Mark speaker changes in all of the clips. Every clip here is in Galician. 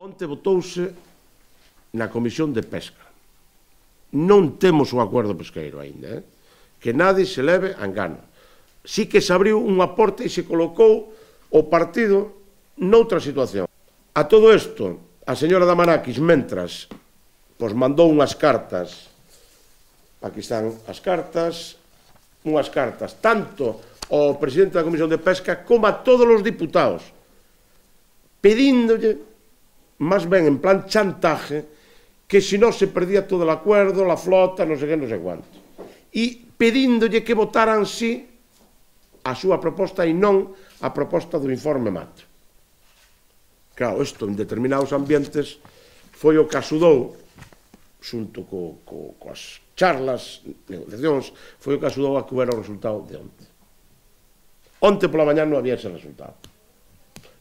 Speaker 1: Onte votouse na Comisión de Pesca. Non temos o acordo pesqueiro aínda, que nadie se leve a engano. Sí que se abriu un aporte e se colocou o partido noutra situación. A todo isto, a señora Damanakis, mentras, mandou unhas cartas, aquí están as cartas, unhas cartas tanto ao presidente da Comisión de Pesca como a todos os diputados, pedíndolle, máis ben en plan chantaje, que se non se perdía todo o acordo, a flota, non sei que, non sei cuánto. E pedíndolle que votaran sí a súa proposta e non a proposta do informe Mato. Claro, isto en determinados ambientes foi o que axudou, xunto coas charlas, negociacións, foi o que axudou a que houbera o resultado de onte. Onte pola mañá non había ese resultado.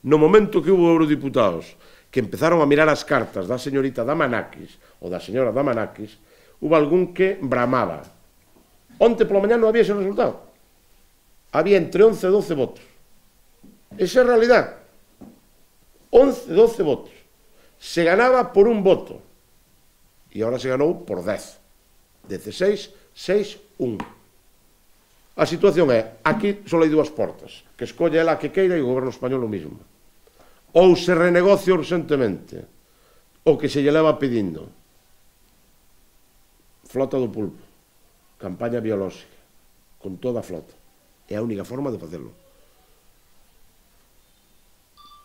Speaker 1: No momento que hubo eurodiputados que empezaron a mirar as cartas da señorita Damanakis ou da señora Damanakis, hubo algún que bramaba. Onte pola mañá non había ese resultado. Había entre 11 e 12 votos. Esa é a realidade. 11 e 12 votos. Se ganaba por un voto. E agora se ganou por 10. 16, 6, 1. A situación é, aquí só hai dúas portas, que escolle ela a que queira e o goberno español o mismo. Ou se renegocia urgentemente, o que se lle leva pedindo. Flota do pulpo, campaña biolóxica, con toda a flota. É a única forma de facelo.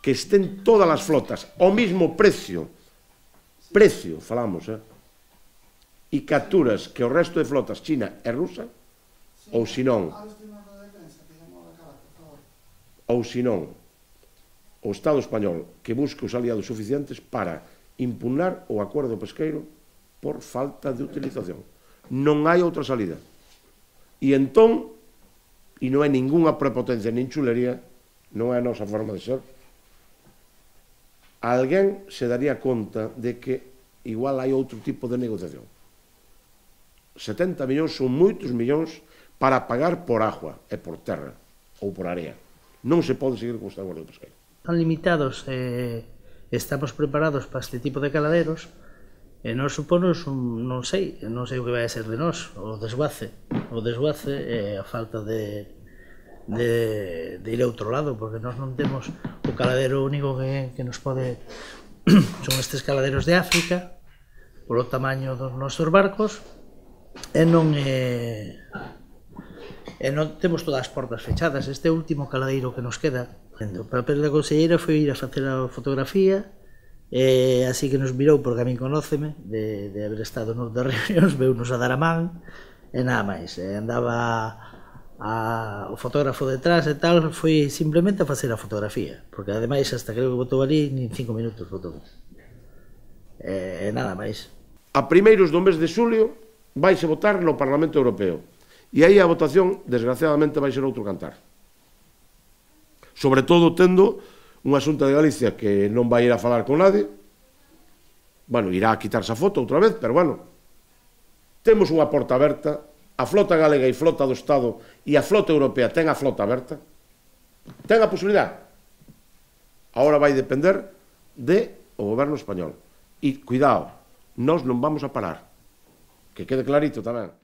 Speaker 1: Que estén todas as flotas ao mismo precio, falamos, e capturas que o resto de flotas china e rusa, ou senón, o Estado español que busque os aliados suficientes para impugnar o acordo pesqueiro por falta de utilización. Non hai outra salida. E entón, e non é ningunha prepotencia nin chulería, non é a nosa forma de ser, alguén se daría conta de que igual hai outro tipo de negociación. 70 millóns son moitos millóns para pagar por agua e por terra ou por area. Non se pode seguir con este acordo pesqueiro.
Speaker 2: Están limitados, estamos preparados para este tipo de caladeros e nos suponos, non sei o que vai a ser de nós, o desguace e a falta de ir a outro lado, porque nós non temos o caladero único que nos pode son estes caladeros de África polo tamaño dos nosos barcos e non temos todas as portas fechadas. Este último caladeiro que nos queda, o papel da conselleira foi ir a facer a fotografía, así que nos mirou, porque a min conóceme de haber estado noutras reunións, veunos a dar a man e nada máis. Andaba o fotógrafo detrás e tal, foi simplemente a facer a fotografía, porque ademais hasta creo que botou ali nin 5 minutos botou, e nada máis.
Speaker 1: A primeiros do mes de xulio vaise votar no Parlamento Europeo e aí a votación, desgraciadamente, vai ser outro cantar. Sobre todo tendo unha Xunta de Galicia que non vai ir a falar con nadie, bueno, irá a quitarse a foto outra vez, pero bueno, temos unha porta aberta, a flota galega e flota do Estado e a flota europea ten a flota aberta, ten a posibilidade. Agora vai depender do goberno español. E, cuidado, nós non vamos a parar, que quede clarito tamén.